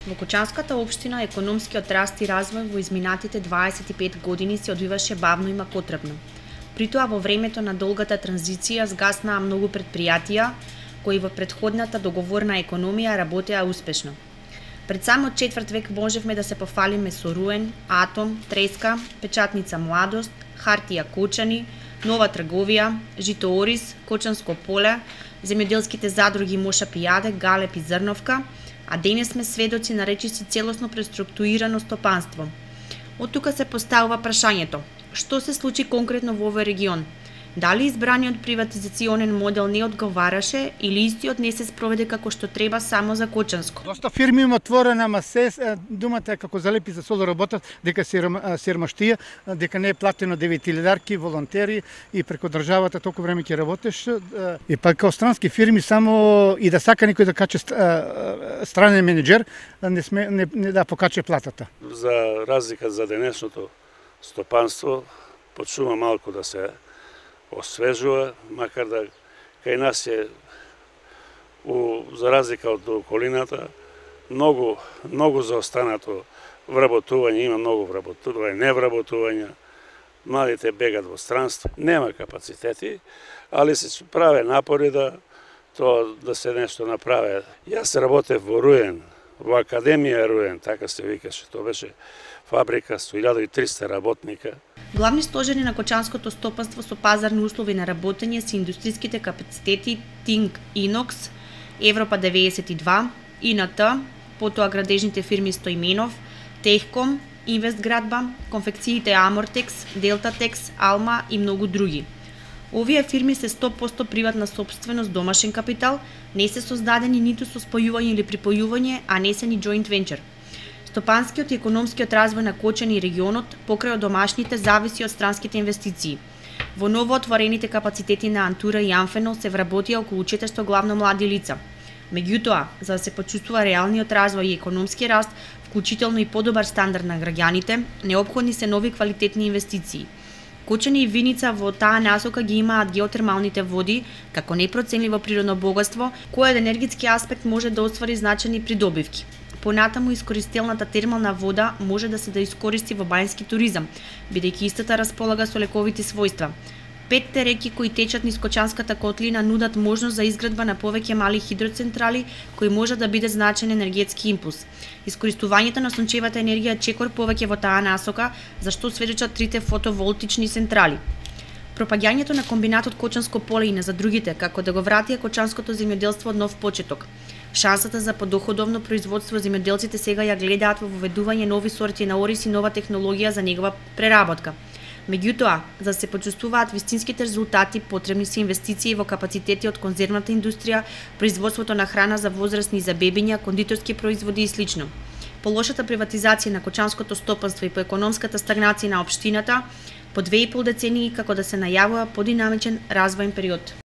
Во Кочанската општина економскиот раст и развој во изминатите 25 години се одвиваше бавно и макотребно. Притоа во времето на долгата транзиција згаснаа многу предпријатија кои во претходната договорна економија работеа успешно. Пред само четврт век можевме да се пофалиме со Руен, Атом, Треска, Печатница Младост, Хартија Кочани, Нова трговија, Жито Орис, Кочанско поле, земјоделските задруги Моша Пијаде, Галеб и Зрновка, а денес сме сведоци на речиси целосно преструктурирано стопанство. Од тука се поставува прашањето: што се случи конкретно во овој регион? Дали избраниот приватизационен модел не одговараше или истиот не се спроведе како што треба само за Кочанско? Доста фирми има отворена, ама се думате како залепи за соло работат, дека сиромаштија, дека не е платено 9000 волонтери и преку државата толку време ќе работиш. И па како странски фирми само и да сака некој да каче странен менеджер, не да покаче платата. За разлика за денешното стопанство, почнува малку да се освежува, макар да кај нас е, за разлика од околината, многу заостанато вработување, има многу вработување, невработување, младите бегат во странство, нема капацитети, али се праве напори да се нешто направи. Јас работев во Руен, во Академија Руен, така се викаше, тоа беше фабрика со 1300 работника. Главни стожери на Кочанското стопанство со пазарни услови на работење се индустриските капацитети Тинг Инокс, Европа 92, ИНТ, потоа градежните фирми Стоименов, Техком, Инвестградба, конфекциите Амортекс, Делтатекс, Алма и многу други. Овие фирми се 100% приватна сопственост, домашен капитал, не се создадени ниту со спојување или припојување, а не се ни joint venture. Стопанскиот и економскиот развој на Кочани и регионот покрај од домашните зависи од странските инвестиции. Во новоотворените капацитети на Антура и Амфенол се вработија околу 400 главно млади лица. Меѓутоа, за да се почувствува реалниот развој и економски раст, вклучително и подобар стандард на граѓаните, неопходни се нови квалитетни инвестиции. Кочани и Виница во таа насока ги имаат геотермалните води како непроценливо природно богатство, кое од енергетски аспект може да оствари значајни придобивки. Понатаму искористелната термална вода може да се да искористи во бањски туризам, бидејќи истата располага со лековити својства. 5 реки кои течат низ Кочанската котлина нудат можност за изградба на повеќе мали хидроцентрали кои може да биде значаен енергетски импулс. Искористувањето на сончевата енергија чекор повеќе во таа насока, за што сведочат 3 фотоволтични централи. Пропаѓањето на комбинатот Кочанско поле и на за другите, како да го вратија Кочанското земјоделство од нов почеток. Шансата за подоходовно производство земјоделците сега ја гледаат во воведување нови сорти на ориз и нова технологија за негова преработка. Меѓутоа, за да се почувствуваат вистинските резултати, потребни се инвестиции во капацитети од конзервната индустрија, производството на храна за возрастни и за бебиња, кондиторски производи и слично. По лошата приватизација на Кочанското стопанство и по економската стагнација на општината, по 2,5 децении како да се најавува подинамичен развоен период.